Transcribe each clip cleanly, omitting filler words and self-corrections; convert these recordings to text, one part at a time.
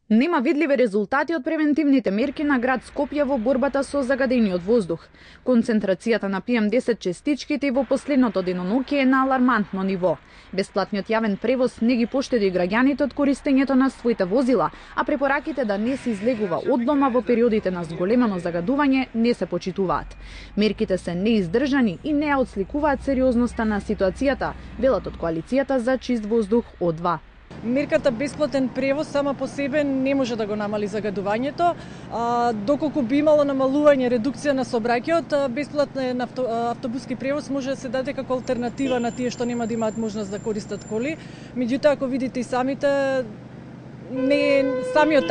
Нема видливи резултати од превентивните мерки на град Скопје во борбата со загадениот воздух. Концентрацијата на PM10 частичките во последното деноноќе е на алармантно ниво. Бесплатниот јавен превоз не ги поштеди граѓаните од користењето на своите возила, а препораките да не се излегува од дома во периодите на зголемено загадување не се почитуваат. Мерките се неиздржани и не ја отсликуваат сериозноста на ситуацијата, велат од коалицијата за чист воздух О2. Мерката бесплатен превоз сама по себе не може да го намали загадувањето, доколку би имало намалување, редукција на сообраќајот, бесплатен автобуски превоз може да се даде како алтернатива на тие што нема да имаат можност да користат коли. Меѓутоа, ако видите и самиот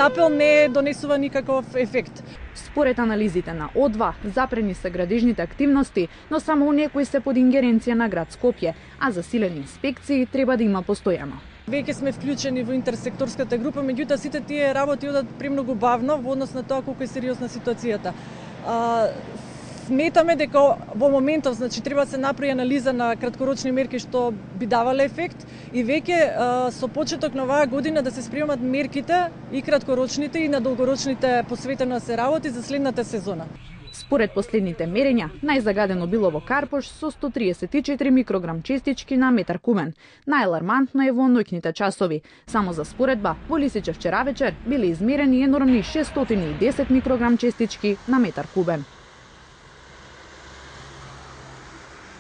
апел не донесува никаков ефект. Според анализите на О2, запрени се градежните активности, но само оние кои се под ингеренција на град Скопје, а засилени инспекции треба да има постојано. Веќе сме вклучени во интерсекторската група, меѓутоа сите тие работи одат премногу бавно во однос на тоа колку е сериозна ситуацијата. Сметаме дека во моментов, треба да се направи анализа на краткорочни мерки што би давале ефект и веќе со почеток на оваа година да се спремат мерките и краткорочните и на долгорочните посветено да се работи за следната сезона. Според последните мерења, најзагадено било во Карпош со 134 микрограм честички на метар кубен. Најалармантно е во ноќните часови. Само за споредба, во Лисиче вчера вечер биле измерени енормни 610 микрограм честички на метар кубен.